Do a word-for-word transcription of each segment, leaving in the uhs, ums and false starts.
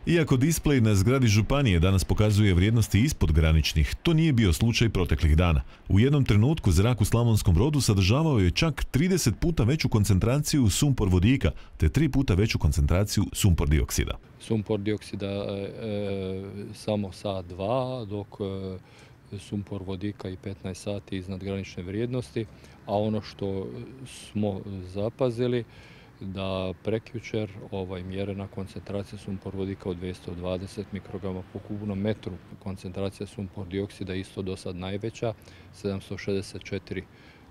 Iako displej na zgradi županije danas pokazuje vrijednosti ispod graničnih, to nije bio slučaj proteklih dana. U jednom trenutku zrak u Slavonskom Brodu sadržavao je čak trideset puta veću koncentraciju sumpor vodika, te tri puta veću koncentraciju sumpor dioksida. Sumpor dioksida e, samo sat dva, dok e, sumpor vodika i petnaest sati iznad granične vrijednosti, a ono što smo zapazili da prekjučer ovaj, mjerena koncentracija sumpor vodika od dvjesto dvadeset mikrograma po kubnom metru, koncentracija sumpor dioksida isto do sad najveća, sedamsto šezdeset četiri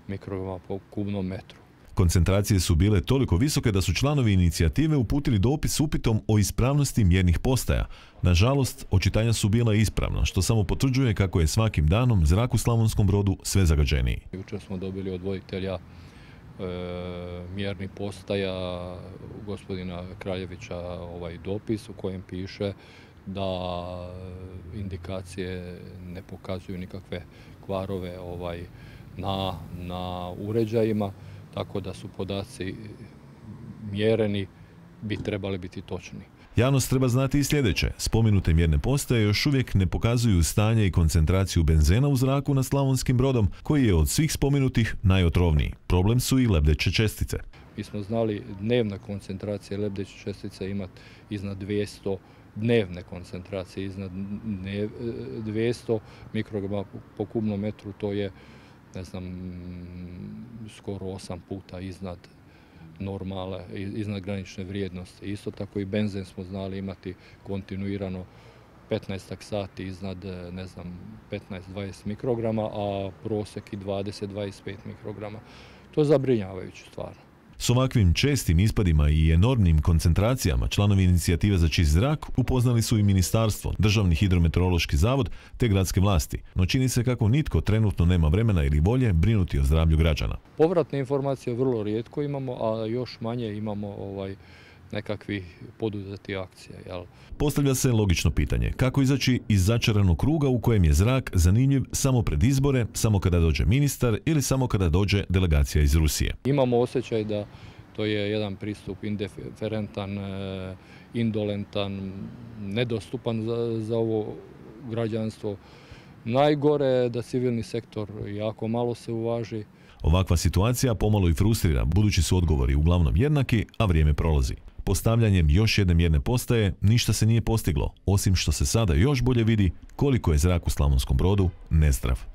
mikrograma po kubnom metru. Koncentracije su bile toliko visoke da su članovi inicijative uputili dopis s upitom o ispravnosti mjernih postaja. Nažalost, očitanja su bila ispravna, što samo potvrđuje kako je svakim danom zrak u Slavonskom Brodu sve zagađeniji. Jučer smo dobili od voditelja E, mjernih postaja gospodina Kraljevića ovaj dopis u kojem piše da indikacije ne pokazuju nikakve kvarove ovaj, na, na uređajima, tako da su podaci mjereni bi trebali biti točni. Javnost treba znati i sljedeće. Spomenute mjerne postaje još uvijek ne pokazuju stanje i koncentraciju benzena u zraku nad Slavonskim Brodom, koji je od svih spomenutih najotrovniji. Problem su i lebdeće čestice. Mi smo znali dnevna koncentracija lebdeće čestice imati iznad dvjesto, dnevne koncentracije iznad dvjesto mikrograma po kubnom metru, to je, ne znam, skoro osam puta iznad normale, iznad granične vrijednosti. Isto tako i benzen smo znali imati kontinuirano petnaest sati iznad, ne znam, petnaest do dvadeset mikrograma, a prosjek i dvadeset do dvadeset pet mikrograma. To je zabrinjavajuće stvarno. S ovakvim čestim ispadima i enormnim koncentracijama članovi inicijative za čist zrak upoznali su i ministarstvo, Državni hidrometeorološki zavod te gradske vlasti, no čini se kako nitko trenutno nema vremena ili volje brinuti o zdravlju građana. Povratne informacije vrlo rijetko imamo, a još manje imamo ovaj, nekakvih poduzeti akcija. Jel? Postavlja se logično pitanje, kako izaći iz začaranog kruga u kojem je zrak zanimljiv samo pred izbore, samo kada dođe ministar ili samo kada dođe delegacija iz Rusije. Imamo osjećaj da to je jedan pristup indiferentan, indolentan, nedostupan za, za ovo građanstvo. Najgore je da civilni sektor jako malo se uvaži. Ovakva situacija pomalo i frustrira, budući su odgovori uglavnom jednaki, a vrijeme prolazi. Postavljanjem još jedne mjerne postaje ništa se nije postiglo, osim što se sada još bolje vidi koliko je zrak u Slavonskom Brodu nezdrav.